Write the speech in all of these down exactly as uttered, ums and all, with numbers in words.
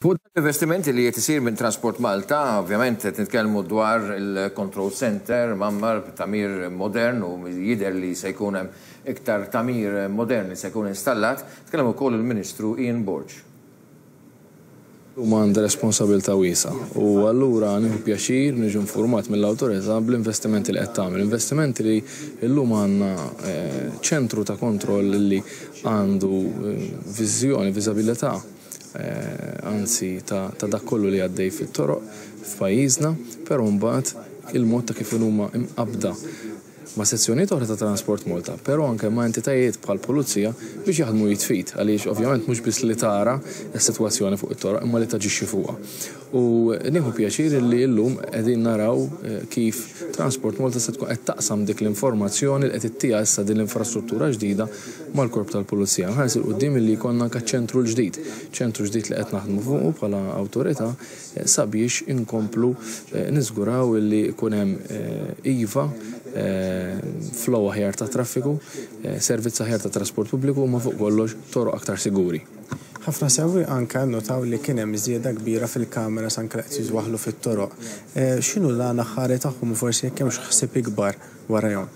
Fuq l-investimenti li qed isir minn Transport Malta, ovvjament qed nitkellmu dwar il-control center, mgħammar b'tagħmir modern u jidher li se jkun hemm iktar tagħmir modern li se jkun installat, tkellem ukoll il-Ministru Ian Borg. Huma għandha responsabilità wiesgħa u allura nieħu pjaċir niġu informat mill-awtorità bl-investimenti li qed tagħmel. Investimenti li llum għandna eh, ċentru ta' kontroll li għandu eh, viżjoni, viżabilità Eh, anzi ta' dak kollu li għaddej fit-toroq f'pajjiżna, però mbagħad il-mod ta' kif huma imqabda ma' sezzjonijiet oħra ta' Transport Malta, però anke ma' entitajiet bħal pulizija biex jaħdmu id f'id, għaliex ovvjament mhux biss li tara s-sitwazzjoni fuq it-toroq imma li taġixxi fuqha. U nieħu pjaċir li llum qegħdin naraw eh, kif Transport Malta se tkun qed taqsam dik l-informazzjoni li qed ittiha issa din l-infrastruttura ġdida mal-korp tal-pulizija. Nħares 'il quddiem li jkollna anke ċentru l-ġdid, ċentru ġdid li qed naħdmu fuqu bħala awtorità eh, sabiex inkomplu eh, niżguraw li jkun hemm iva flow aħjar ta' traffiku, servizz aħjar ta' trasport pubbliku ma fuq kollox toroq aktar siguri. Ħafna sewwieqa anke notaw li kien hemm żieda kbira fil-kameras anke li qed jitwaħħlu fit-toroq. Eh, x'inhu l-għan aħħari tagħhom u forsi jekk hemmx ħsieb ikbar warajhom?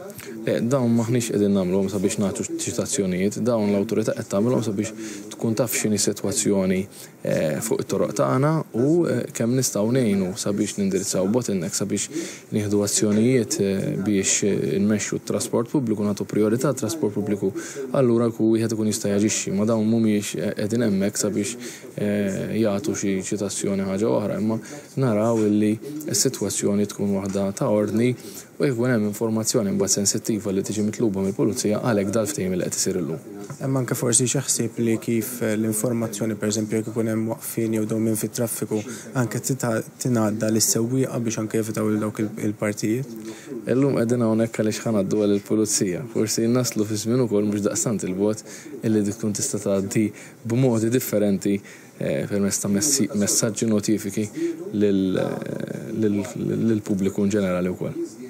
Dawn maħniex qegħdin nagħmluhom sabiex nagħtu ċitazzjonijiet, dawn l-awtorità qed tagħmilhom sabiex tkun taf x'inhi sitwazzjoni eh, fuq it-toroq tagħna u eh, kemm nistgħu ngħinu sabiex nindirizzaw bottleneck, sabiex nieħdu azzjonijiet eh, biex nmexxu t-trasport pubbliku, nagħtu priorità trasport pubbliku, allura ku wieħed ikun jista' jaġixxi, ma dawn mhumiex qegħdin hemmhekk sabiex jagħtu xi ċitazzjoni ħaġa oħra, imma naraw illi s-sitwazzjoni tkun waħda ta' ordni u jkun hemm informazzjoni mbagħad sensittiva li tiġi mitluba mill-pulizija, għalhekk dal-ftehim li qed isir illum. Hemm anke forsi xi ħsieb li kif l-informazzjoni, pereżempju jekk ikun hemm waqfien jew dewmien fit-traffiku, anke tingħadda lis-sewwieqa biex anke jevitaw lil dawk il-partijiet? Illum qegħdin hawnhekk għaliex ħa ngħaddu lill-pulizija. Forsi naslu fi żmien ukoll mhux daqstant il-bogħod illi dik tkun tista' tgħaddi b'modi differenti eh, permezz ta' messaġġi, notifiki lill-pubbliku in ġenerali wkoll.